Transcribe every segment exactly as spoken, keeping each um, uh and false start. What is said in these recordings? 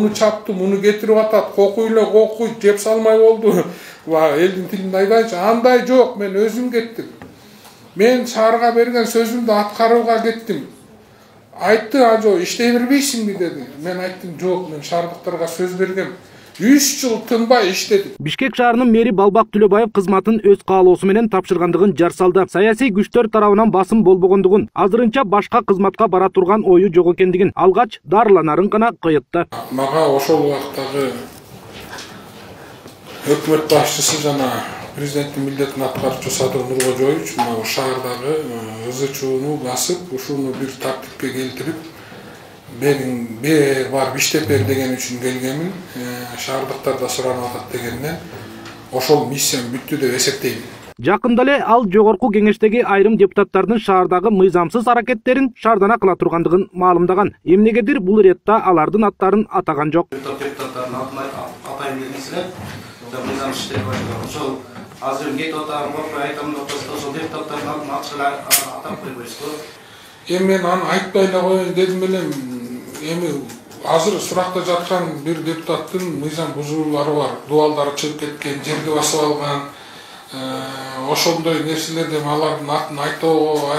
муну чапты, муну кетирип атат, кокуй эле кокуйт, жеп салмай болду. Элдин тилинде айтайынчы, андай жок, мен өзүм кеттим. Мен шаарга берген сөзүмдү аткарууга кеттим. Айтты, ажо, иштей бербейсиңби деди. Мен айттым, жок, мен шаардыктарга сөз бергем. үч жыл тынбай иштедик. Бишкек шаарынын мэри Балбак Түлөбаев кызматын өз каалоосу менен тапшыргандыгын жар салды. Саясий күчтөр тарабынан басым болбогондугун, азырынча башка кызматка бара турган ою жок экендигин, алгач дарыланарын гана коётту. Мага ошол убактагы өкмөт башчысы жана президенттин милдетин аткаруучу Садыр Нуркожоевич мына шаардагы ызы чууну басып, ушуну бир тартипке келтирип, менин бер барып иштеп бер деген үчүн келгемин, шаардыктар да суранып атат дегенден ошол миссиям бүттү деп эсептейм. Жакында эле ал жогорку кеңештеги айрым депутаттардын шаардагы мыйзамсыз аракеттерин шаардана кыла тургандыгын маалымдаган. Эмнегедир бул иретте алардын аттарын атаган жок. Депутаттардын атын атайын дегенсине, мыйзамсыз иштеп атат. Ошол азыр кетип атам, айтам деп атса, ошол депутаттардын атын ачыла атап койбойсузбу? Эми мен аны айтпай эле коеюн дедим элем. Эми азыр суракта жаткан бир депутаттын мыйзам бузуулары бар. Дуалдары чыгып кеткен, жерди басып алган, ошондой нерселерди алардын атын айтууга,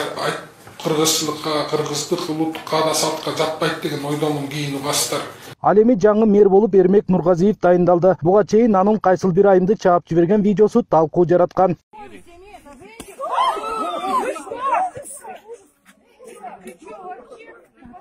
кыргызчылыкка, кыргыздык улуттук каада салтка жатпайт деген ойдомун кийин угасыздар. Ал эми жаңы мэр болуп Эрмек Нургазиев дайындалды. Буга чейин анын кайсыл бир айымды чаап жиберген видеосу талкуу жараткан.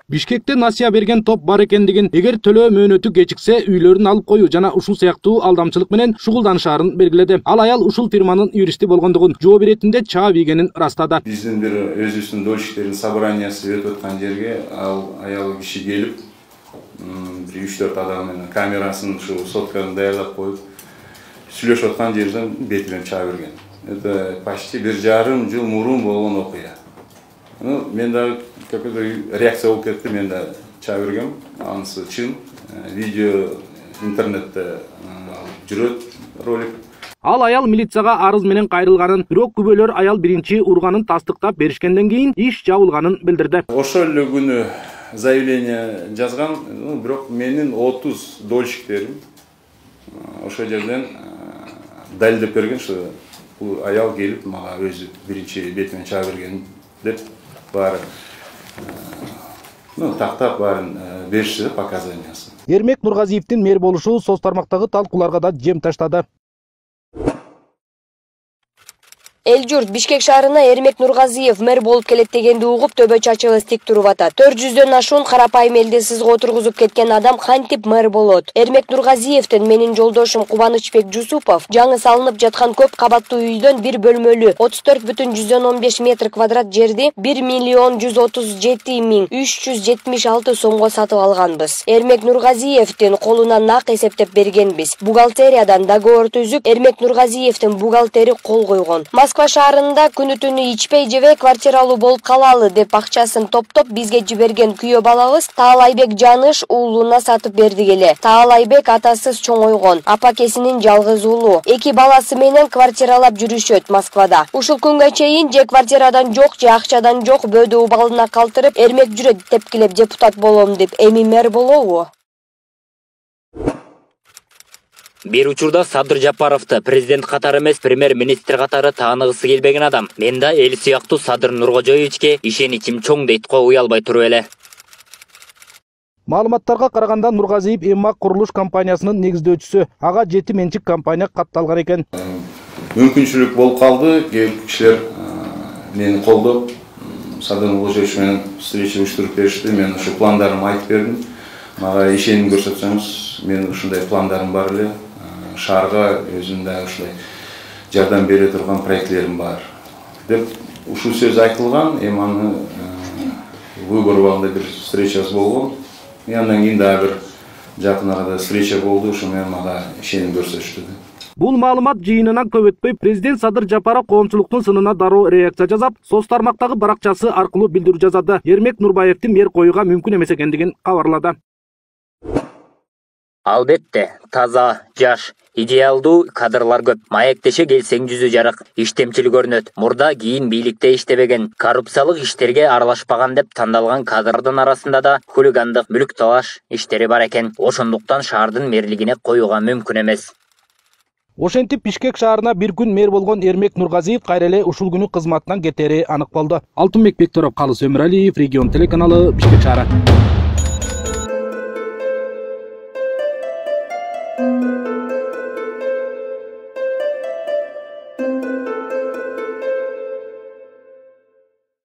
Бишкекте насыя берген топ бар экендигин, эгер төлөө мөөнөтү кечиксе үйлөрүн алып коюу жана ушул сыяктуу алдамчылык менен шугулданышаарын белгиледи. Ал аял ушул фирманын юристи болгондугун, жооп иретинде чаап ийгенин растады. Биздин бир өзүбүздүн дольщиктердин собраниясы өтүп аткан жерге ал аял киши келип, бир үч төрт адам менен камерасын ушу сотканы даярдап коюп, сүйлөшүп аткан жерден бетинен чаап берген. Это почти бир жарым жыл мурун болгон окуя. Ну, мен да какой-то реакция болуп кетти, мен да чаап бергем. Анысы чын, видео интернетте жүрөт ролик. Ал аял милицияга арыз менен кайрылганын, бирок күбөлөр аял биринчи урганын тастыктап беришкенден кийин иш жабылганын билдирди. Ошол эле күнү заявление жазган, бирок менин отуз дольщиктерим ошол жерден далилдеп берген, что бул аял келип мага өзү биринчи бетимен чаап берген деп баары ну тактап баарын беришти показаниясын. Эрмек Нургазиевдин мэр болушу соц тармактагы талкууларга да жем таштады. Эл журт Бишкек шаарына Эрмек Нургазиев мэр болуп келет дегенди угуп төбө чачыбыз тик туруп атат. төрт жүздөн ашуун карапайым элди сызга отургузуп кеткен адам кантип мэр болот? Эрмек Нургазиевдин менин жолдошум Кубанычбек Жусупов жаңы салынып жаткан көп кабаттуу үйдөн бир бөлмөлүү отуз төрт бүтүн жүздөн он беш метр квадрат жерди бир миллион жүз отуз жети миң үч жүз жетимиш алты сомго сатып алганбыз. Эрмек Нургазиевдин колуна нак эсептеп бергенбиз. Бухгалтериядан договор түзүп, Эрмек Нургазиевдин бухгалтери кол койгон. Москва шаарында күнү-түнү ичпей жебей квартиралуу болуп калалы деп акчасын топтоп бизге жиберген күйөө балабыз Таалайбек Жаныш уулуна сатып берди эле. Таалайбек атасыз чоңойгон, апакесинин жалгыз уулу. Эки баласы менен квартиралап жүрүшөт Москвада. Ушул күнгө чейин же квартирадан жок, же акчадан жок бөөдө убалына калтырып, Эрмек жүрөт тепкилеп депутат болом деп эми мэр болобу? Бир учурда Садыр Жапаровду президент катары эмес, премьер-министр катары тааныгысы келбеген адам. Мен да эл сыяктуу Садыр Нуркожоевичке ишеничим чоң дейт го, уялбай туруп эле. Маалыматтарга караганда Нургазиев Эммак курулуш компаниясынын негиздөөчүсү. Ага жети менчик компания катталган экен. Мүмкүнчүлүк болуп калды, кишилер мени колдоп, Садыр Нуркожоевич менен встреча уюштуруп беришти. Мен ушу пландарымды айтып бердим. Мага ишеним көрсөтсөңүз, мен ушундай пландарым бар эле. Шаарга өзүндө ушулай жардам бере турган проектлерим бар деп ушул сөз айтылган. Эми аны выбор убагында бир встречасы болгон. Андан кийин дагы бир жакын арада встреча болду, ошо менен мага ишеним көрсөтүштү. Бул маалымат жыйынынан көп өтпөй президент Садыр Жапаров коомчулуктун сынына дароо реакция жасап, соц тармактагы баракчасы аркылуу билдирүү жазады. Эрмек Нурбаевдин мэр коюуга мүмкүн эмес экендигин кабарлады. Албетте, таза, жаш, Идеалдуу кадрлар көп. Маектеше келсең жүзү жарык, иштемчил көрүнөт. Мурда кийин бийликте иштебеген, коррупциялык иштерге аралашпаган деп тандалган кадрдын арасында да хулигандык, мүлк талаш иштери бар экен. Ошондуктан шаардын мэрлигине коюуга мүмкүн эмес. Ошентип Бишкек шаарына бир күн мэр болгон Эрмек Нургазиев кайра эле ушул күнү кызматынан кетери анык болду. Алтынбек Бекторов, Калыс Өмүралиев, Регион телеканалы, Бишкек шаары.